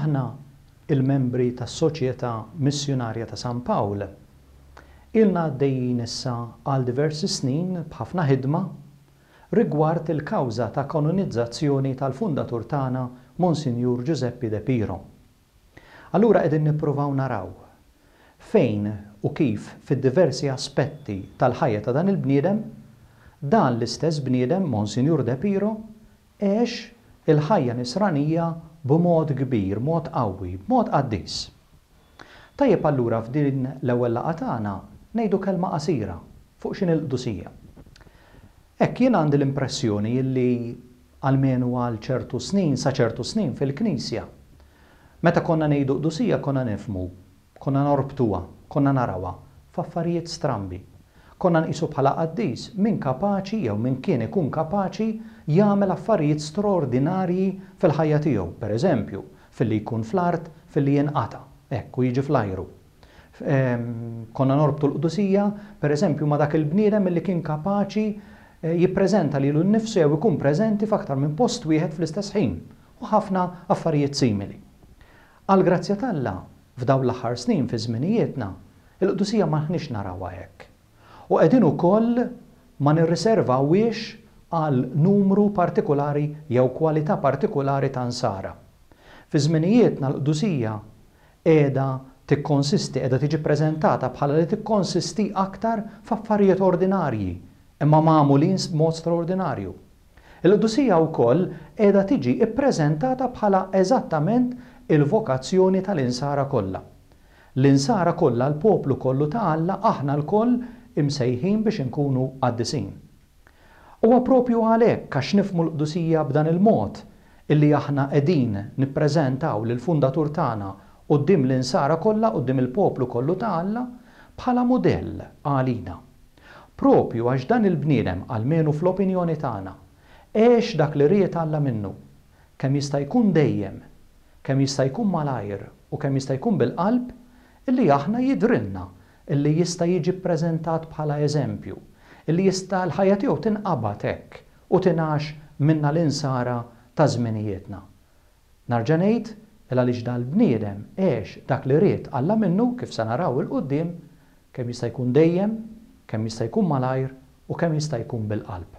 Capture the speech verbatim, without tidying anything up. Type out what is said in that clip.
Aħna, il-membri tas-Soċjetà Missjunarja ta' San Pawl, ilna għaddejjin issa għal diversi snin b'ħafna ħidma rigward il-kawża ta' kanonizzazzjoni tal-fundatur tagħna Monsinjur Ġużeppi De Piro. Allura qegħdin nippruvaw naraw fejn u kif fid-diversi aspetti tal-ħajja ta' dan il-bniedem, dan l-istess bniedem, Monsinjur De Piro, għex il-ħajja nisranija b'mod kbir, mod qawwi, b'mod qaddis. Tajjeb allura f'din l-ewwel laqgħa tagħna ngħidu kelma qasira fuq x'inhi l-qdusija. Hekk jien għandi l-impressjoni illi almenu għal ċertu snin, sa ċertu snin fil-Knisja, meta konna ngħidu qdusija konna nifhmu, konna norbtuha, konna narawha f'affarijiet strambi. Konna nqisu bħala qaddis min kapaċi jew min kien ikun kapaċi jagħmel affarijiet straordinarji fil-ħajja tiegħu, pereżempju, filli jkun fl-art, filli jinqata', hekk, u jiġi fl-ajru. Konna norbtu l-qdusija, pereżempju, ma' dak il-bniedem illi kien kapaċi jippreżenta lilu nnifsu jew ikun preżenti f'aktar minn post wieħed fl-istess ħin, u ħafna affarijiet simili. Għall-grazzja t'Alla, f'dawn l-aħħar snin fi żminijietna, il-qdusija m'aħniex narawha hekk. U qegħdin ukoll ma nirriservawhiex għal numru partikolari jew kwalità partikolari ta' nsara. Fi żminijietna l-qdusija qiegħda tikkonsisti, qiegħda tiġi ppreżentata bħala li tikkonsisti aktar f'affarijiet ordinarji, imma magħmulin b'mod straordinarju. Il-qdusija wkoll qiegħda tiġi ppreżentata bħala eżattament il-vokazzjoni tal-insara kollha. L-insara kollha, l-poplu kollu ta' Alla, aħna lkoll imsejħin biex inkunu qaddisin. Huwa propju għalhekk għax nifhmu l-qdusija b'dan il-mod illi aħna qegħdin nippreżentaw lill-fundatur tagħna quddiem l-insara kollha, quddiem il-poplu kollu ta' Alla, bħala mudell għalina. Propju għax dan il-bniedem, almenu fl-opinjoni tagħna, għex dak li ried Alla minnu, kemm jista' jkun dejjem, kemm jista' jkun malajr u kemm jista' jkun bil-qalb, illi aħna jidhrilna illi jista' jiġi ppreżentat bħala eżempju, illi jista' l-ħajja tiegħu tinqabad hekk u tingħax minna l-insara ta' żminijietna. Narġa' ngħid il għaliex dal-bniedem għex dak li ried Alla minnu, kif se naraw 'il quddiem, kemm jista' jkun dejjem, kemm jista' jkun malajr u kemm jista' jkun bil-qalb.